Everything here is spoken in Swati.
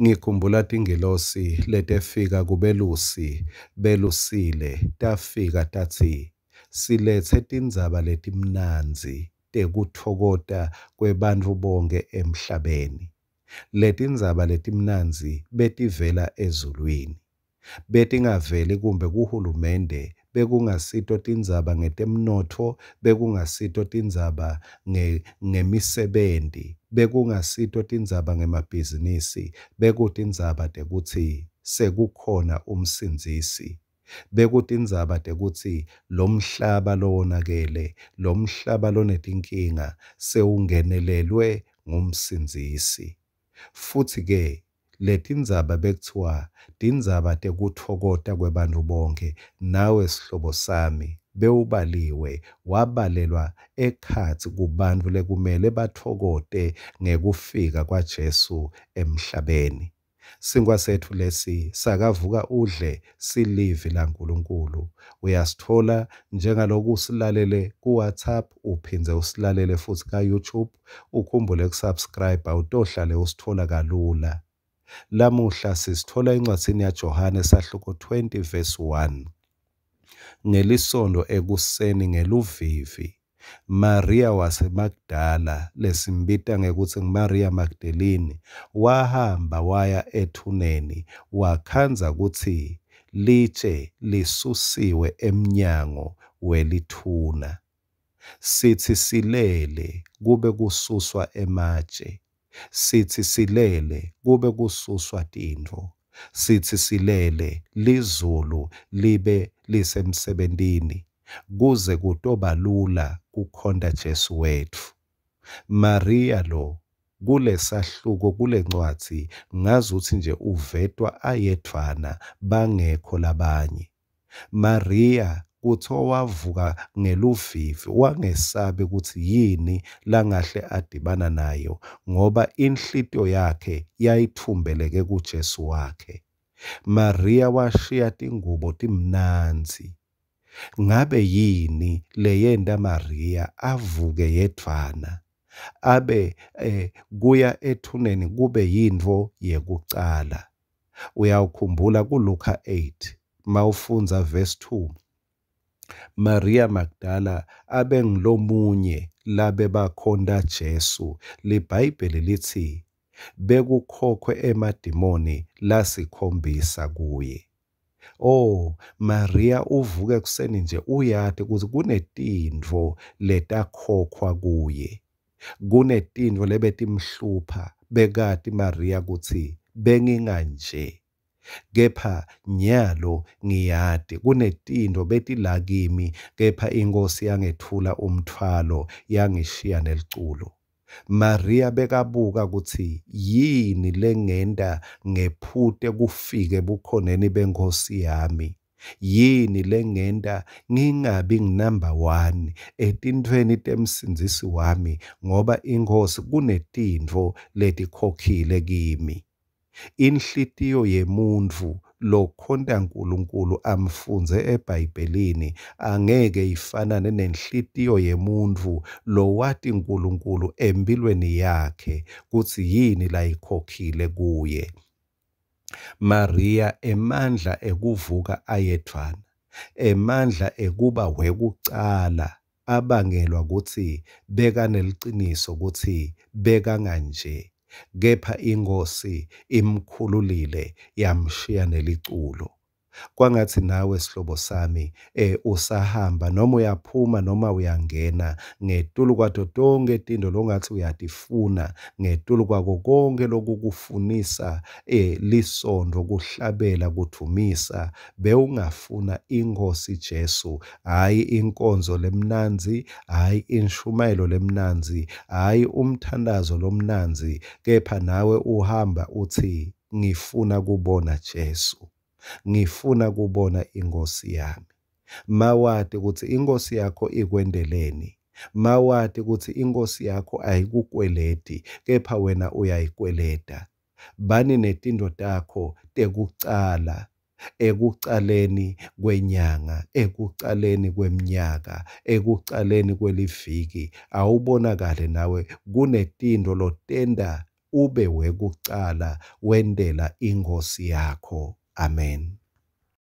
Ngikhumbula tingilosi letefika kubelusi belusile, tafika tatsi, Siletse tindzaba letimnandzi tekutfokota kwebantfu bonkhe emhlabeni. Letindzaba letimnandzi betivela ezulwini. Betingaveli kumbe kuhulumende, bekungasito tindzaba ngetemnotfo, bekungasito tindzaba ngemisebenti, bekungasito tindzaba ngemabhizinisi, bekutindzaba tekutsi sekukhona umsindzisi. Bekutindzaba tekutsi lomhlaba lowonakele, lomhlaba lonetinkinga sewungenelelwe ngumsindzisi. Futsi-ke letindzaba bekutsiwa tindzaba tekutfokota kwebantfu bonkhe, nawe sihlobo sami bewubaliwe, wabalelwa ekhatsi kubantfu lekumele batfokote ngekufika kwaJesu emhlabeni. Sinkhwa setfu lesi sakavuka udle silivi laNkulunkulu. Uyasitfola njengaloku usilalele ku-WhatsApp, uphindze usilalele futsi ka-YouTube, ukhumbule kusubscribe utohlale usitfola kalula. Lamuhla sisitfola encwadzini yaJohane sahluko 20 verse 1. Ngelisondo ekuseni ngeluvivi, Maria waseMagdala, lesimbita ngekutsi nguMaria Magdalene, wahamba waya ethuneni wakhandza kutsi litshe lisusiwe emnyango welithuna. Sitsi silele kube kususwa ematje, sitsi silele kube kususwa tintfo, sitsi silele lizulu libe lisemsebentini kuze kutoba lula kukhonta Jesu wetfu. Maria lo kulesahluko kulencwadzi ngazutsi nje uvetwa ayedvwana bangekho labanye. Maria kuthiwa wavuka ngeluvivi wangesabi kutsi yini langahle adibana nayo ngoba inhlitiyo yakhe yayitfumbeleke kuJesu wakhe. Maria washiya tingubo timnandzi. Ngabe yini leyenta Maria avuke yedvwana abe kuya ethuneni kube yintfo yekucala? Uyawukhumbula kuLuka 8 mawufundza verse 2, Maria Magdala abengulomunye labebakhonta Jesu. LiBhayibheli litsi bekukhokhwe emadimoni lasikhombisa kuye. Oh, Maria uvuka ekuseni nje uyati kutsi kunetintfo letakhokhwa kuye. Kunetintfo lebetimhlupha, bekati Maria kutsi benginganje. Kepha nyalo ngiyati kunetintfo betila kimi, kepha iNkhosi yangethula umtfwalo yangishiya neliculo. Maria bekabuka kutsi yini lengenta ngephute kufike ebukhoneni beNkhosi yami. Yini lengenta ngingabi ngunumber 1 etintfweni temsindzisi wami, ngoba iNkhosi kunetintfo letikhokhile kimi. Inhlitiyo yemuntfu lokhonta Nkulunkulu amfundze eBhayibhelini angeke ifanane nenhlitiyo yemuntfu lowati Nkulunkulu empilweni yakhe kutsi yini layikhokhile kuye. Maria emandla ekuvuka ayedvwana, emandla ekuba wekucala abangelwa kutsi bekaneliciniso kutsi bekanganje, kepha iNkhosi imkhululile yamshiya neliculo. Kwangatsi nawe sihlobo sami usahamba noma uyaphuma noma uyangena, ngetulu kwato tonkhe tintfo longatsi uyatifuna, ngetulu kwako konkhe lokukufunisa lisontfo, kuhlabela, kudvumisa, bewungafuna iNkhosi Jesu, hhayi inkonzo lemnandzi, hhayi inshumayelo lemnandzi, hhayi umthandazo lomnandzi, kepha nawe uhamba utsi ngifuna kubona Jesu. Ngifuna kubona iNkhosi yami. Mawati kutsi iNkhosi yakho ikwenteleni. Mawati kutsi iNkhosi yakho ayikukweleti, kepha wena uyayikweleta. Bani netintfo takho tekucala, ekucaleni kwenyanga, ekucaleni kwemnyaka, ekucaleni kweliviki. Awubonakale nawe kunetintfo lotenta ube wekucala wentela iNkhosi yakho. Amen.